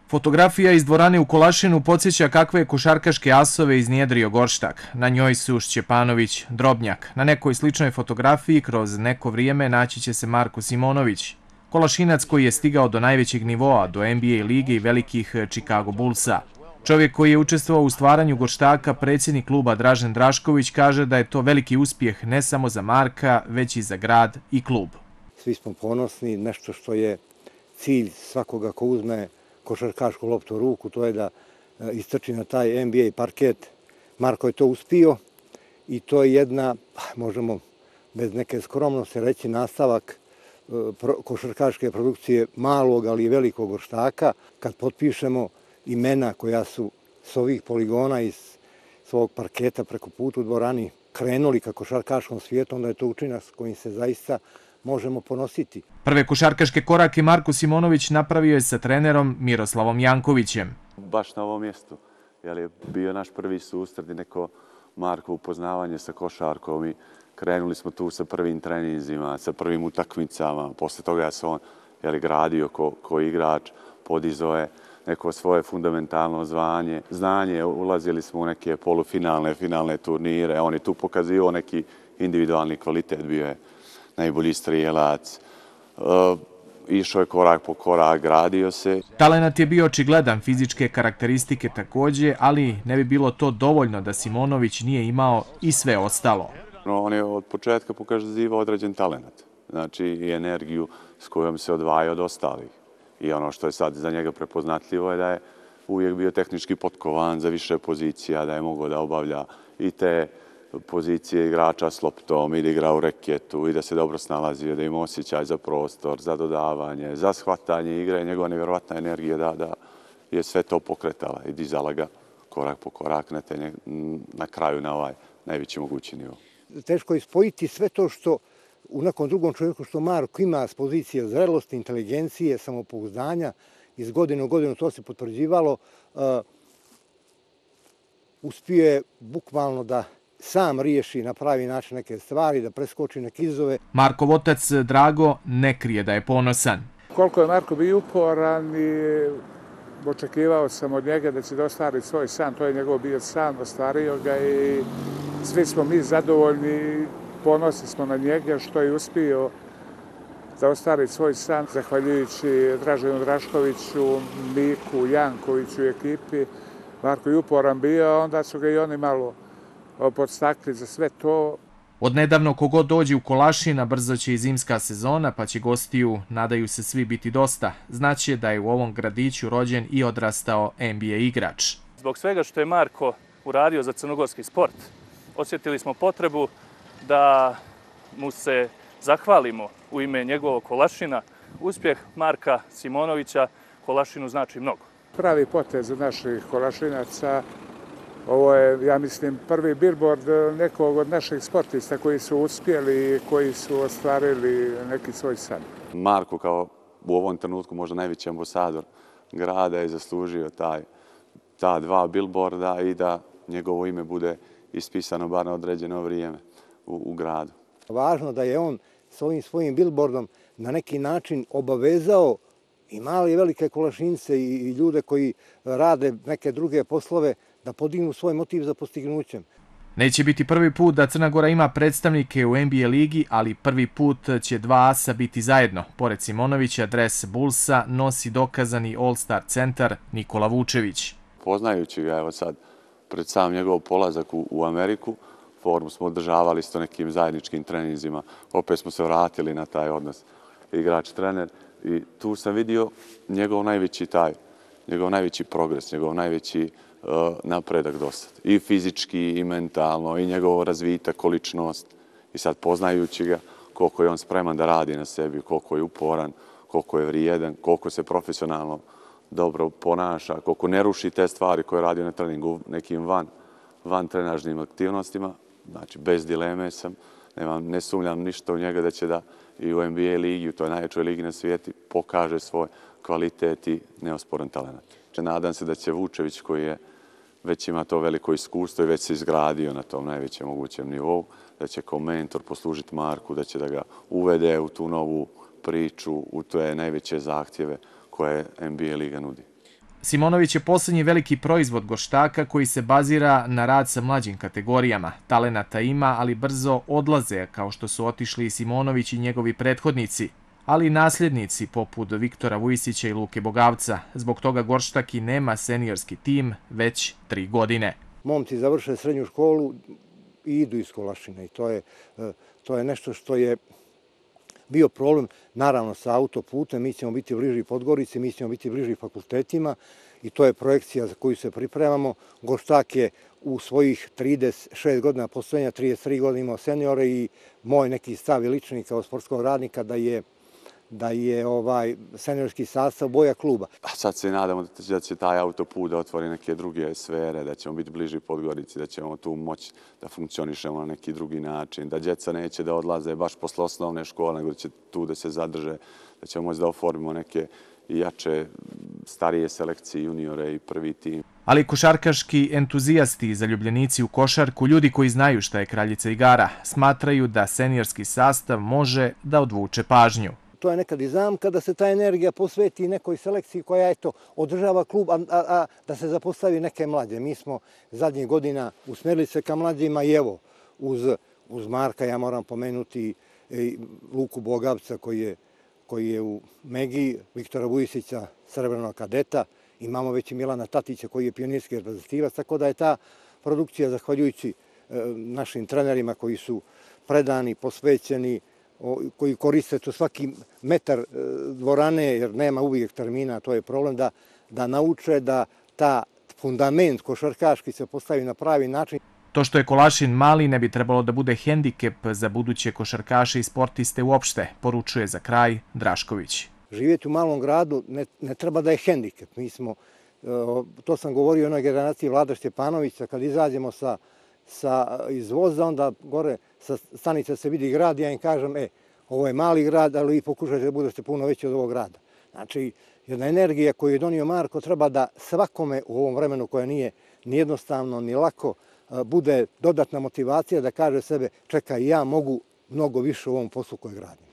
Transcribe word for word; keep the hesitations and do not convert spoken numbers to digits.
Fotografija iz dvorane u Kolašinu podsjeća kakve je košarkaške asove iznjedrio Gorštak. Na njoj su Šćepanović, Drobnjak. Na nekoj sličnoj fotografiji kroz neko vrijeme naći će se Marko Simonović, Kolašinac koji je stigao do najvećeg nivoa, do N B A lige i velikih Chicago Bullsa. Čovjek koji je učestvovao u stvaranju Gorštaka, predsjednik kluba Dražen Drašković, kaže da je to veliki uspjeh ne samo za Marka, već i za grad i klub. Svi smo ponosni, nešto što je cilj svakoga ko uzme košarkašku loptu u ruku, to je da istrči na taj N B A parket. Marko je to uspio i to je jedna, možemo bez neke skromnosti reći, nastavak košarkaške produkcije malog, ali i velikog Gorštaka. Kad potpišemo imena koja su s ovih poligona iz svog parketa preko puta u dvorani krenuli ka košarkaškom svijetu, onda je to učinak s kojim se zaista možemo ponositi. Prve košarkaške korake Marko Simonović napravio je sa trenerom Miroslavom Jankovićem. Baš na ovom mjestu, jer je bio naš prvi susret i neko Marko upoznavanje sa košarkom i krenuli smo tu sa prvim treninzima, sa prvim utakmicama. Posle toga ja sam on jeli, gradio ko, ko igrač, podizao je neko svoje fundamentalno zvanje, znanje, ulazili smo u neke polufinalne, finalne turnire, on je tu pokazio neki individualni kvalitet, bio je najbolji strijelac, uh, išao je korak po korak, gradio se. Talenat je bio očigledan, fizičke karakteristike također, ali ne bi bilo to dovoljno da Simonović nije imao i sve ostalo. On je od početka pokazivao određen talenat, znači i energiju s kojom se odvaja od ostalih. I ono što je sad za njega prepoznatljivo je da je uvijek bio tehnički potkovan za više pozicija, da je mogao da obavlja i te pozicije igrača s loptom, i da igra u reketu, i da se dobro snalazio, da ima osjećaj za prostor, za dodavanje, za shvatanje igre. Njegova nevjerovatna energija da, da je sve to pokretala i dizala ga korak po korak na, te, na kraju na ovaj najveći mogući nivo. Teško je spojiti sve to što u nekom drugom čovjeku što Marko ima s pozicije zrelosti, inteligencije, samopouzdanja, iz godine u godinu to se potvrđivalo, uh, uspio je bukvalno da sam riješi na pravi način neke stvari, da preskoči neke izazove. Markov otac Drago ne krije da je ponosan. Koliko je Marko bio uporan i očekivao sam od njega da će da ostvari svoj san, to je njegov bio san, ostvario ga i svi smo mi zadovoljni, ponosni smo na njega što je uspio da ostvari svoj san, zahvaljujući Draženu Draškoviću, Miku, Jankoviću i ekipi. Marko je uporan bio, onda su ga i oni malo podstakli za sve to. Od nedavno kogod dođe u Kolašina, brzo će i zimska sezona, pa će gostiju, nadaju se svi, biti dosta. Znaće da je u ovom gradiću rođen i odrastao N B A igrač. Zbog svega što je Marko uradio za crnogorski sport, osjetili smo potrebu da mu se zahvalimo u ime njegovog Kolašina. Uspjeh Marka Simonovića Kolašinu znači mnogo. Pravi potez od naših Kolašinaca. Ovo je, ja mislim, prvi billboard nekog od naših sportista koji su uspjeli i koji su ostvarili neki svoj san. Marko kao u ovom trenutku možda najveći ambasador grada je zaslužio taj, ta dva billboarda i da njegovo ime bude ispisano bar na određeno vrijeme u, u gradu. Važno da je on s ovim svojim billboardom na neki način obavezao i male i velike Kolašince i ljude koji rade neke druge poslove da podignu svoj motiv za postignućem. Neće biti prvi put da Crna Gora ima predstavnike u N B A ligi, ali prvi put će dva asa biti zajedno. Pored Simonovića, dres Bullsa nosi dokazani All-Star centar Nikola Vučević. Poznajući ga evo sad pred sam njegov polazak u, u Ameriku, formu smo održavali s to nekim zajedničkim treninzima. Opet smo se vratili na taj odnos igrač-trener i tu sam vidio njegov najveći taj, njegov najveći progres, njegov najveći uh, napredak dosad. I fizički, i mentalno, i njegov razvitak, količnost. I sad poznajući ga koliko je on spreman da radi na sebi, koliko je uporan, koliko je vrijedan, koliko se profesionalno dobro ponaša, koliko ne ruši te stvari koje radi na treningu nekim van, van trenažnim aktivnostima. Znači, bez dileme sam, nemam, ne sumnjam ništa u njega da će da i u N B A ligi, u toj najvećoj ligi na svijeti, pokaže svoj kvalitet i neosporan talent. Nadam se da će Vučević, koji je već ima to veliko iskustvo i već se izgradio na tom najvećem mogućem nivou, da će kao mentor poslužiti Marku, da će da ga uvede u tu novu priču, u te najveće zahtjeve koje N B A liga nudi. Simonović je poslednji veliki proizvod Gorštaka koji se bazira na rad sa mlađim kategorijama. Talenata ima, ali brzo odlaze, kao što su otišli i Simonović i njegovi prethodnici, ali i nasljednici poput Viktora Vujisića i Luke Bogavca. Zbog toga Gorštak i nema seniorski tim već tri godine. Momci završe srednju školu i idu iz Kolašina i to je, to je nešto što je bio problem, naravno sa autoputem, mi ćemo biti bliži Podgorici, mi ćemo biti bliži fakultetima i to je projekcija za koju se pripremamo. Gorštak je u svojih trideset šest godina postojanja, trideset tri godine imao seniore i moj neki stav i lični kao sportskog radnika da je da je ovaj seniorski sastav boja kluba. A sad se nadamo da će taj autoput da otvori neke druge sfere, da ćemo biti bliži Podgorici, da ćemo tu moći da funkcionišemo na neki drugi način, da djeca neće da odlaze baš posle osnovne škole, nego da će tu da se zadrže, da ćemo moći da oformimo neke jače, starije selekcije, juniore i prvi tim. Ali košarkaški entuzijasti i zaljubljenici u košarku, ljudi koji znaju šta je kraljica igara, smatraju da seniorski sastav može da odvuče pažnju. To je nekad i zamka da se ta energija posveti nekoj selekciji koja eto, održava klub, a, a, a da se zapostavi neke mlađe. Mi smo zadnjih godina usmerili se ka mlađima i evo, uz, uz Marka ja moram pomenuti i Luku Bogavca koji je, koji je u Megi, Viktora Vujisića, srebrnog kadeta, imamo već i Milana Tatića koji je pionirski reprezentativac, tako da je ta produkcija, zahvaljujući e, našim trenerima koji su predani, posvećeni, koji koriste to svaki metar dvorane, jer nema uvijek termina, to je problem, da, da nauče da ta fundament košarkaški se postavi na pravi način. To što je Kolašin mali ne bi trebalo da bude hendikep za buduće košarkaše i sportiste uopšte, poručuje za kraj Drašković. Živjeti u malom gradu ne, ne treba da je hendikep. Mi smo, to sam govorio o onoj generaciji Vlada Šćepanovića, kad izađemo sa sa izvoza, onda gore sa stanice se vidi grad i ja im kažem, e, ovo je mali grad, ali vi pokušajte da budete puno veći od ovog grada. Znači, jedna energija koju je donio Marko treba da svakome u ovom vremenu koje nije ni jednostavno, ni lako, bude dodatna motivacija da kaže sebe, čekaj, ja mogu mnogo više u ovom poslu koji gradim.